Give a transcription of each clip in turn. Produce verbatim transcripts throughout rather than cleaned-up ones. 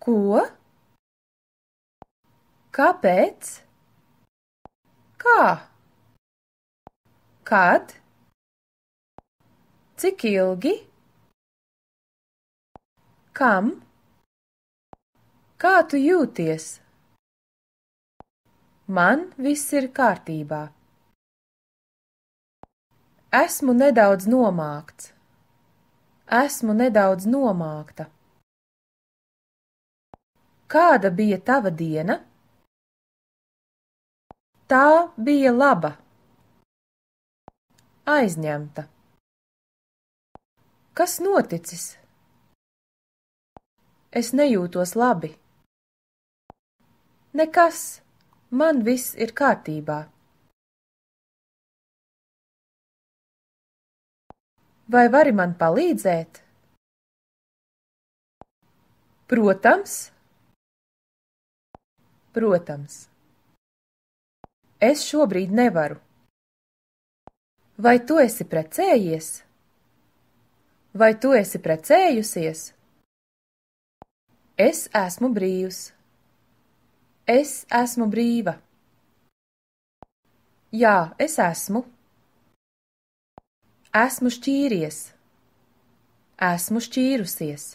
Ko? Kāpēc? Kā? Kad? Cik ilgi? Kam? Kā tu jūties? Man viss ir kārtībā. Esmu nedaudz nomākts. Esmu nedaudz nomākta. Kāda bija tava diena? Tā bija laba. Aizņemta. Kas noticis? Es nejūtos labi. Nekas, man viss ir kārtībā. Vai vari man palīdzēt? Protams. Protams. Es šobrīd nevaru. Vai tu esi precējies? Vai tu esi precējusies? Es esmu brīvs. Es esmu brīva. Jā, es esmu. Esmu šķīries. Esmu šķīrusies.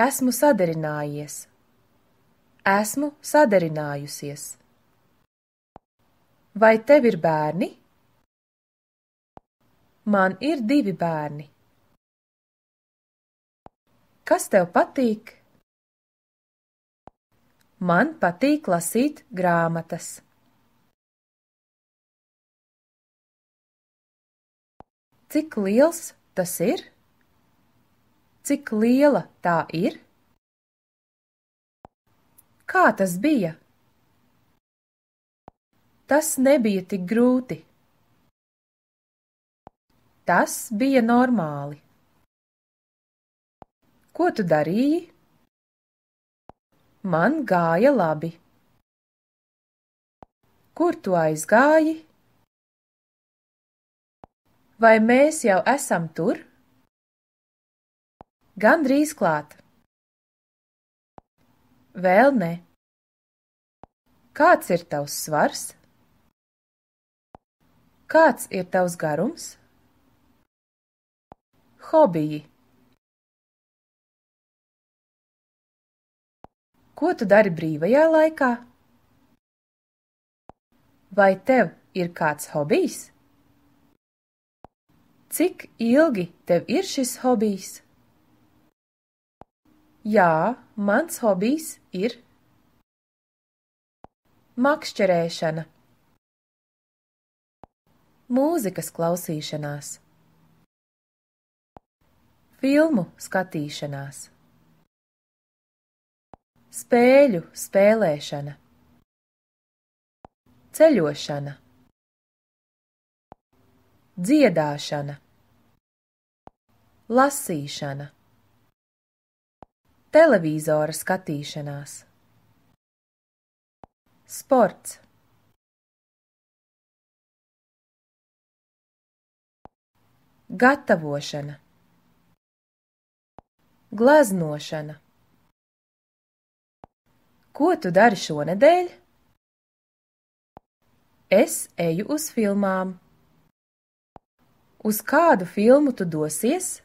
Esmu sadarinājies. Esmu sadarinājusies. Vai tev ir bērni? Man ir divi bērni. Kas tev patīk? Man patīk lasīt grāmatas. Cik liels tas ir? Cik liela tā ir? Kā tas bija? Tas nebija tik grūti. Tas bija normāli. Ko tu darīji? Man gāja labi. Kur tu aizgāji? Vai mēs jau esam tur? Gandrīz klāt. Vēl ne. Kāds ir tavs svars? Kāds ir tavs garums? Hobiji. Ko tu dari brīvajā laikā? Vai tev ir kāds hobijs? Cik ilgi tev ir šis hobijs? Jā, mans hobijs ir makšķerēšana. Mūzikas klausīšanās. Filmu skatīšanās. Spēļu spēlēšana. Ceļošana. Dziedāšana. Lasīšana. Televīzora skatīšanās. Sports. Gatavošana. Gleznošana. Ko tu dari šonedēļ? Es eju uz filmām. Uz kādu filmu tu dosies?